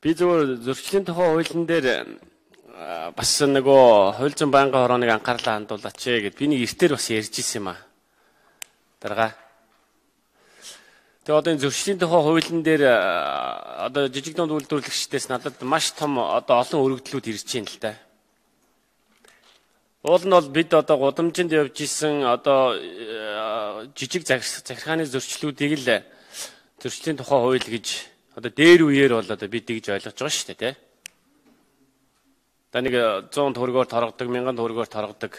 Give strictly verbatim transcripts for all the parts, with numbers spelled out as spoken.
Би зөвхөн зөрчлийн тухай хуулийн дээр бас нөгөө хууль зүйн байнгын хорооныг анхаарлаа хандуулаач гэд би нэг эртээр бас ярьж ирсэн юм аа. Дарга. Тэгээ одоо энэ зөрчлийн тухай хуулийн дээр одоо жижиг дунд үйлдвэрлэгчдээс надад маш том одоо олон өргөдлүүд ирж байна л да. Уул нь бол бид одоо гудамжинд явж исэн одоо жижиг захиргааны зөрчлүүдийг л зөрчлийн тухай хууль гэж одоо дээр үеэр бол одоо бид тэгж ойлгож байгаа шүү дээ, тий. Одоо нэг зуун төгрөгөөр торгодог, мянган төгрөгөөр торгодог.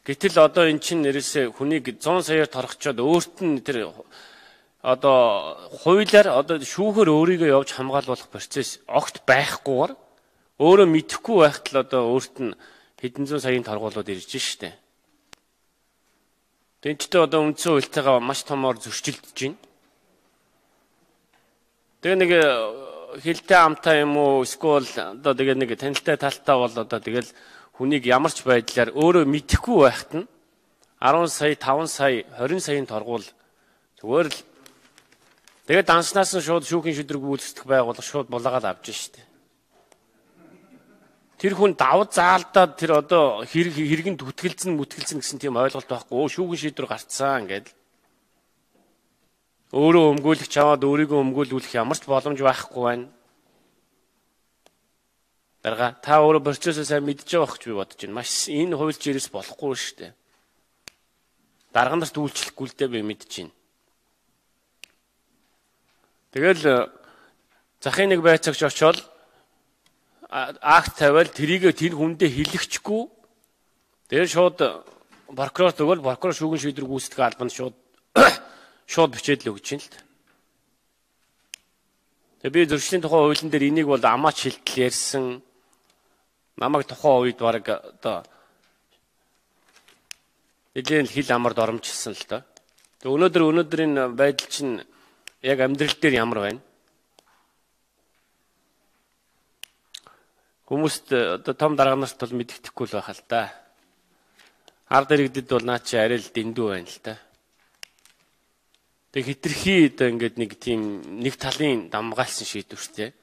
Гэтэл одоо эн чинь нэрээсээ хүнийг зуун саяар торгочоод өөрт нь тэр одоо хуулиар одоо шүүхээр өөрийгөө явж хамгаалуулах процесс огт байхгүйгээр өөрөө мэдэхгүй байхад л одоо өөрт нь хэдэн зуун саяын торгуулууд ирж штэ. Тэнцтэй одоо үндсэн хуультайгаа маш томоор зөрчилдөж байна. Тэгээ нэг хилтэй амтай юм уу эсвэл одоо тэгээ нэг танилтай талтай бол одоо тэгэл хүнийг ямар ч байдлаар өөрөө мэдэхгүй байхад нь арван сая, таван сая, хорин саяын торгуул зүгээр л тэгээ данснаас нь шууд шүүхийн шийдвэр гүйцэтгэх байгууллага шууд булаагаад авч штэ. Тэр хүн давд заалдаад тэр одоо хэрэг хэрэгэнд түтгэлцэн мүтгэлцэн гэсэн тийм ойлголт байхгүй. Өө шүүхийн шийдвэр гарцсан гэдэг. Өөрөө өмгөөлөх чаваад өөрийгөө өмгөөлүүлэх ямар ч боломж байхгүй байна. Дарга та өөрөө процессыг сайн мэдж байгаа гэж би бодож байна. Маш энэ хуульч ирээс болохгүй шүү дээ. Дарга нарт үйлчлэхгүй л дээ би мэдж байна. Тэгэл захын нэг байцаагч очоод акт тавиал тэрийг тэр хүндээ хэлэхчгүй. Тэр шууд прокурорт өгөөл прокурор шүүгийн шийдвэр гүйцэтгэх албанд шууд шууд бичээд л өгч юм л та. Тэгээ би зөрчлийн тухай хуулийн дээр энийг бол амаач шилтэл ярьсан. Намайг тухайн үед баг одоо эдгээр хил амард оромжлсан л та. Тэгээ өнөөдөр өнөөдрийн байдал чинь яг амьдрал дээр ямар байна? Хүмүүст одоо том дарга нарт бол мэддэхгүй л байхал та. Ард иргэдэд бол наа чи арай л дэндүү байна л та. Тэг хитрхи одоо ингээд нэг тийм нэг талын дамгаалсан шийдвэртэй.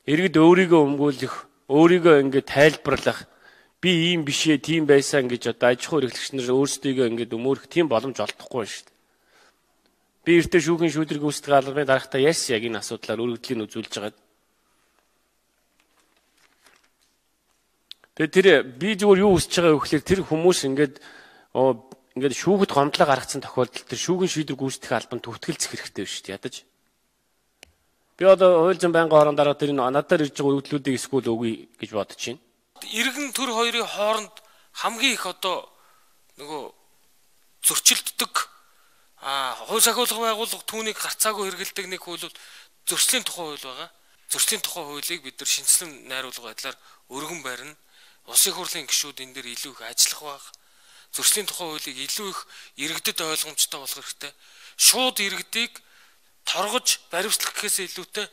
Иргэд өөрийгөө өмгөөлөх, өөрийгөө ингээд тайлбарлах, би ийм бишээ, тийм байсан гэж одоо аж ахуй эрхлэгч нар өөрсдийгөө ингээд өмөөрөх тийм боломж олдохгүй шүү дээ. Би эртээ шүүхийн шийдвэр гүйцэтгэх албаны дарагтаа ярьсан яг энэ асуудлаар өргөдлийн үзүүлж байгаа. Тэгээ тэр би зүгээр юу хүсэж байгаа вэ гэхээр тэр хүмүүс ингээд ингээд шүүхэд гомдлоо гаргацсан тохиолдолд тэр шүүгийн шийдвэр гүйцэтгэх албанд төвтгэлцэх хэрэгтэй шүү дээ. Ядаж. Би одоо хууль зүйн байнгын хорон дараа тэр надаар ирж байгаа өргөдлүүдийг эсвэл өгье гэж бодож байна. Иргэн төр хоёрын хооронд хамгийн их одоо нөгөө зөрчилддөг а хууль сахиулах байгууллага түүнийг гарцаагүй хэрэгэлдэг нэг хууль бол зөрчлийн тухай хууль байгаа. Зөрчлийн тухай хуулийг бид нар шинжилэн найруулга байдлаар өргөн барина. Улсын хурлын гишүүд энэ дээр илүү их ажиллах баг. Зөрчлийн тухай хуулийг илүү их иргэдэд ойлгомжтой болох хэрэгтэй. Шууд иргэдийг торгож баримтлах гэхээс илүүтэй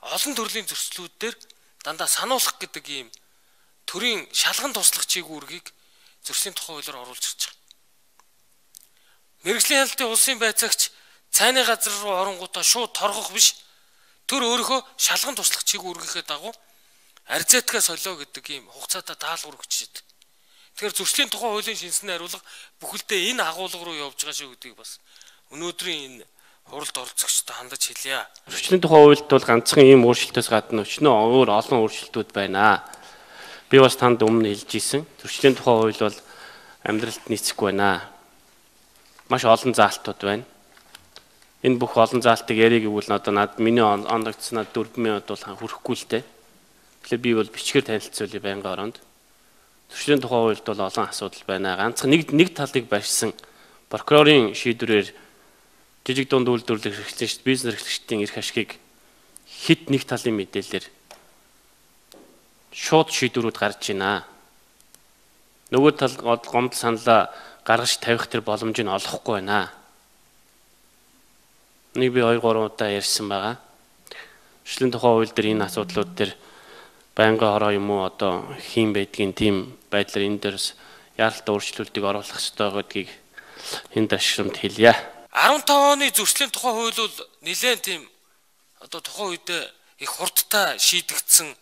олон төрлийн зөрчлүүд дээр дандаа сануулах гэдэг ийм төрийн шалган туслах чиг үүргийг зөрчлийн тухай хуулиар оруулж ирж байгаа. Мэргэжлийн хяналтын улсын байцаагч цайны газар руу оронгуудаа шууд торгох биш. Тэр өөрийнхөө шалган туслах чиг үүргийнхээ дагуу арзаатгаа солио гэдэг ийм хугацаатай даалгавар өгч шийд. Тэгэхээр зөрчлийн тухай хуулийн шинжилсэн найруулга бүхэлдээ энэ агуулга руу явж байгаа шүү гэдгийг бас өнөөдрийн энэ хуралд оролцогчдод хандаж хэлье. Зөрчлийн тухай хуульд бол ганцхан ийм өөрчлөлтөөс гадна өчнөө өөр олон өөрчлөлтүүд байна. Би бас танд өмнө хэлж ийсэн. Зөрчлийн тухай хууль бол амьдралд нийцэхгүй байна. Маш олон заалтууд байна. Энэ бүх олон заалтыг ярих гэвэл одоо над миний ондогдснаад дөрвөн минут бол хүрэхгүй л дээ. Тэгэхээр би бол бичгээр танилцуулъя байнгын оронд. Зөрчлийн тухай хуульд бол олон асуудал байна. Ганцхан нэг нэг талыг барьсан прокурорын шийдвэрээр жижиг дунд үйлдвэрлэх эрхлэгч, бизнес эрхлэгчдийн эрх ашгийг хит нэг талын мэдээлэлээр шууд шийдвэрүүд гарч байна. Нөгөө тал гомдол саналаа гаргаж тавих тэр боломж нь олохгүй байна. Нэг би хоёр гурван удаа ярьсан байгаа. Зөрчлийн тухай хууль дээр энэ асуудлууд дээр байнгын хороо юм уу одоо хийм байдгийн тийм байдлаар энэ дээрс яаралтай өөрчлөлтийг оруулах ёстой гэдгийг энэ ташрамд хэлье. арван таван оны зөрчлийн тухай хууль бол нэлээд тийм одоо тухайн үед их хурдтай шийдэгдсэн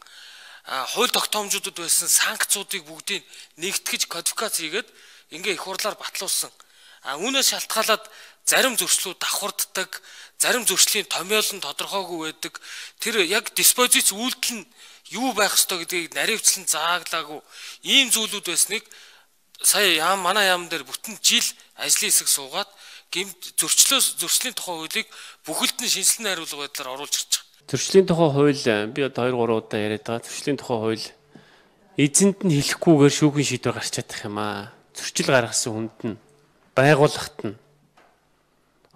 хууль тогтоомжуудад байсан санкцуудыг бүгдийг нэгтгэж кодификац хийгээд ингээ их хурлаар батлуулсан. А үүнээс шалтгаалаад зарим зөрчлүүд давхарддаг, зарим зөрчлийн томьёол нь тодорхойгүй байдаг. Тэр яг диспозиц үйлдэл нь юу байх ёстой гэдгийг наривчлан зааглаагүй ийм зүйлүүд байсныг сая яам манай яам дээр бүтэн жил ажлын хэсэг суугаад гэмт зөрчлөөс зөрчлийн тухай хуулийг бүхэлд нь шинжилсэн хариулга байдлаар оруулж ирж байгаа. Зөрчлийн тухай хууль би одоо хоёр гурван удаа яриад байгаа. Зөрчлийн тухай хууль эзэнд нь хэлэхгүйгээр шүүхийн шийдвэр гарч чадах юм аа. Зөрчил гаргасан хүнд нь байгууллагт нь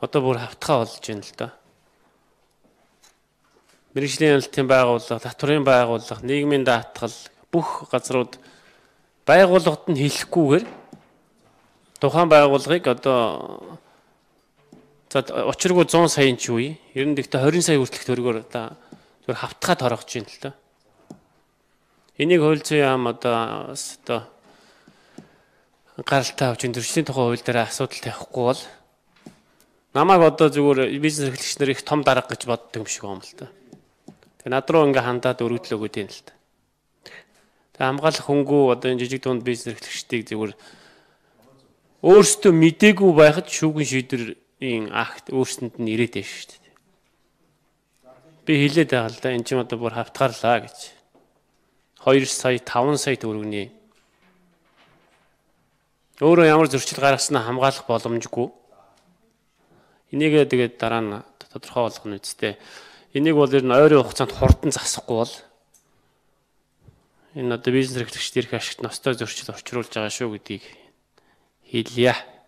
одоо бүр хавтгай болж байна л да. Мэргэжлийн хяналтын байгууллага, татврын байгууллага, нийгмийн даатгал бүх газрууд байгууллагад нь хэлэхгүйгээр тухайн байгууллагыг одоо за учиргүй зуун саяын ч үе, ер нь гэхдээ хорин сая хүртэлх төгрөгөөр одоо зөв хавтгай торгож байна л да. Энийг хууль зүйн яам одоо одоо гаралтай авч зөрчлийн тухай хууль дээр асуудал тавихгүй бол намайг одоо зүгээр бизнес эрхлэгч нар их том дарга гэж боддог юм шиг юм л да. Тэгээ над руу ингээ хандаад өргөдлөө өгöd юм л да. Тэгээ хамгаалах хөнгөө одоо энэ жижиг дунд бизнес эрхлэгчдийг зүгээр өөрсдөө мдээгүй байхад шүүгэн шийдвэрийн акт өөрсөнд нь ирээд байна шүү дээ. Би хэлээд байгаа л да энэ ч юм одоо бүр хавтгаарлаа гэж. хоёр сая таван сая төгрөгийн өөрөө ямар зөрчил гаргаснаа хамгаалах боломжгүй. Энийг тэгээд дараа нь тодорхой болгоно үстэй. Энийг бол ер нь ойрын хугацаанд хурдан засахгүй бол энэ одоо бизнес эрхлэгчдийн ашигт ностой зөрчил учруулж байгаа шүү гэдгийг хэлье.